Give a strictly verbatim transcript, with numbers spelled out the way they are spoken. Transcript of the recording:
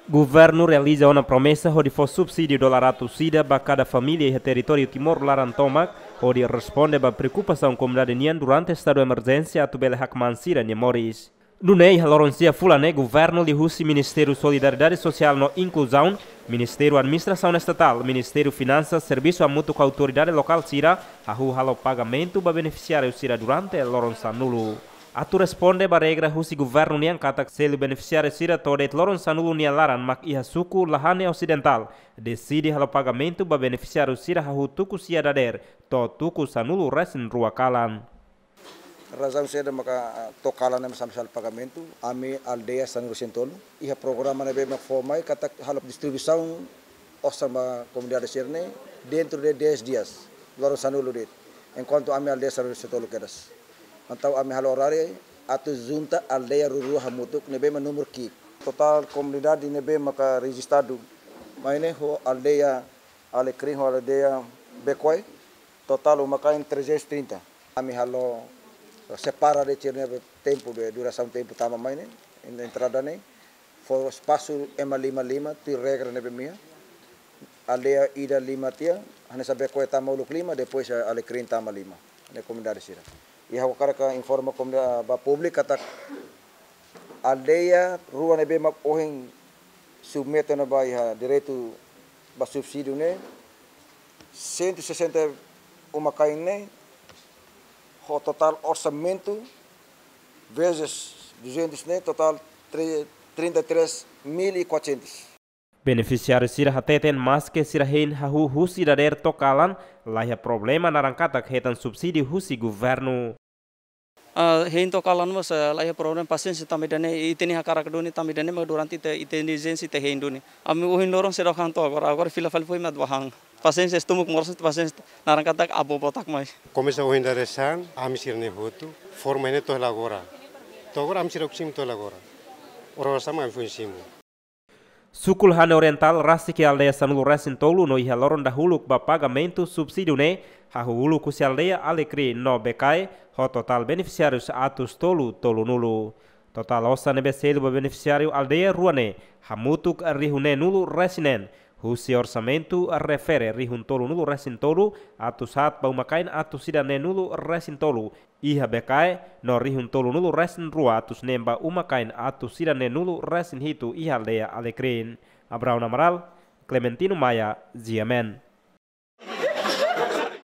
Governu realiza ona promesa hodi fó subsídiu dolar atus ida ba kada família iha territóriu Timor laran tomak, hodi responde ba preokupasaun komunidade nian durante estadu emerjénsia atu bele hakmaan sira-nia moris. Nune'e iha loron sia fulan ne'e governu liuhusi Ministériu Solidariedade Sosiál no Inkluzaun, Ministériu Administrasaun Estatál, Ministériu Finansas, servisu hamutuk ho autoridade lokál sira, hahú halo pagamentu ba benefisiáriu sira durante loron sanulu. Atu responde ba regra husi governu nian katak selu benefisiáriu sira to'o de'it loron sanulu nia laran mak iha suku Lahane Osidentál, deside halo pagamentu ba benefisiáriu sira hahú tuku sia dadeer to'o tuku sanulu resin rua kalan. Razaun saida maka, ah, to'o kalan ne'e mak ami selu pagamentu, ami aldeia sanulu resin tolu, iha programa ne'ebé mak fó mai katak halo distribuisaun osan ba komunidade sira-ne'e dentro de dez dias, loron sanulu de'it. Enkuantu ami aldeia sanulu resin tolu kedas. Entaun ami halo oráriu atu junta aldeia rua-rua hamutuk ne'ebé mak númeru ki'ik. Totál komunidade ne'ebé maka rejistadu mai ne'e ho aldeia Alecrim ho aldeia Bekoe, totál uma-kain trezentos e trinta. Ami halo separa de'it sira-nia tempu, de durasaun tempu tama mai ne'e, en-, entrada ne'e, fó espasu ema lima lima, tuir regra ne'ebé mak iha. Aldeia ida lima tiha, hanesan Bekoe tama uluk lima, depois, eh, Alecrim tama lima. Ne'e komunidade sira. I ha'u hakarak informa komunidade, ba públiku katak aldeia rua ne'ebé mak ohin submete ona ba iha direitu ba subsídiu ne'e, cento e sessenta uma-kain ne'e, ho totál orsamentu vezes duzentos ne'e, totál tre-, trinta e três mil e quatrocentos. Benefisiáriu sira hateten maske sira hein hahú husi dadeer to'o kalan, laiha problema naran katak hetan subsídiu husi governu. Ah, hein to'o kalan mós, eh, laiha problema, pasiénsia tanba ida-ne'e, ita-nia hakarak duni tanba ida-ne'e, mak durante ita, ita ijénsia ita hein duni. Ami ohin loron seidauk han to'o agora, agora fila fali foin mak atu bá han. Pasiénsia, estómagu moras, pasiénsia, naran katak avó botak mai. Komesa ohin dadeer-saan, ami sira-ne'e hotu, forma ne'e to'o hela agora. To'o agora ami seidauk simu to'o hela agora. Oras-oras mak ami foin simu. Suku Lahane Orientál rasik iha aldeia sanulu resin tolu no iha loron dahuluk ba pagamentu subsídiu ne'e, hahú uluk husi aldeia Alecrim no Bekoe, ho totál benefisiárius atus tolu tolunulu. Totál osan ne'ebé selu ba benefisiáriu aldeia rua ne'e, hamutuk rihun neenulu resin neen, husi orsamentu refere rihun tolunulu resin tolu, atus haat ba uma-kain atus ida neenulu resin tolu, iha Bekoe, no rihun tolunulu resin rua atus neen ba uma-kain atus ida neenulu resin hitu iha aldeia Alecrim. Abraão Amaral, Clementino Maia, G M N.